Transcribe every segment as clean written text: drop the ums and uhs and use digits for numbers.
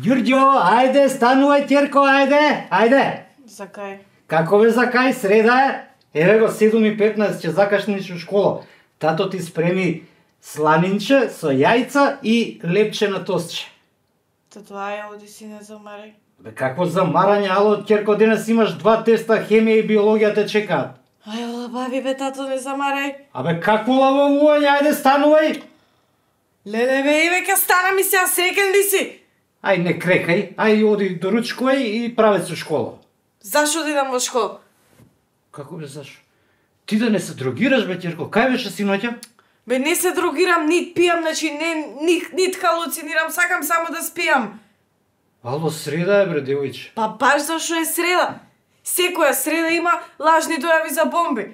Ѓурѓо, ајде, станувај, ќерко, ајде. За кај? Како бе за кај, среда е? Еве го 7:15 ќе закашниш у школа. Тато ти спреми сланинче со јајца и лепче на тостче. Тоа е, оди си не замарај. Бе какво замарање, ало, ќерко, денес имаш 2 теста, хемија и биологија те чекаат. Ај, лабави бе, тато, не замарај. Абе, какво лавовување, ајде, станувај. Леле бе, и века стана ми сега, среќен ли си? Ај, не крекај, ај, оди до ручкој и правец у школа. Зашо одидам во школа? Како бе, зашо? Ти да не се дрогираш, бе, ќерко, кај беше синоќа? Бе, не се дрогирам, нит пијам, значи нит халуцинирам, сакам само да спијам. Ало, среда е, бре, девојче. Па баш зашо е среда. Секоја среда има лажни дојави за бомби.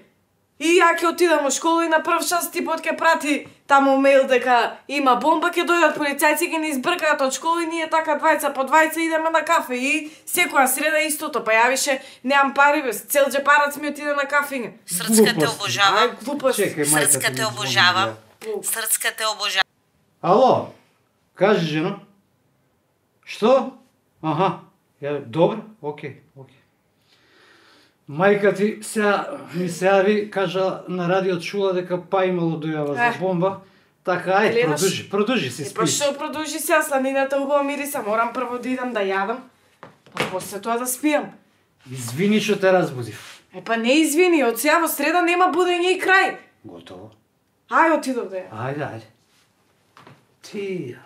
И ја ќе отидам во школа и на прв час типот ќе прати таму мејл дека има бомба, ќе дојдат полицајци, ќе ни избркаат од школа и ние така двајца по двајца идеме на кафе. И секоја среда истото, па ја више немам пари без, цел джепарац ми отиде на кафење. Срцка те обожава. Чекај, мајка Срцка ти те ми обожава. звони, Срцка те обожава. Ало, кажи, жено. Што? Аха, добро, окей. Мајка ти сега ми се јави, кажа на радио чула дека па имало дојава за бомба. Така, ај, продужи си, спи. Па што продужи сега, сланината убава мириса, морам прво да идам да јадам, па после тоа да спијам. Извини што те разбудив. Па не извини, од сега во среда нема будење и крај. Готово. Ај, отидов да ја. Ајде. Ти...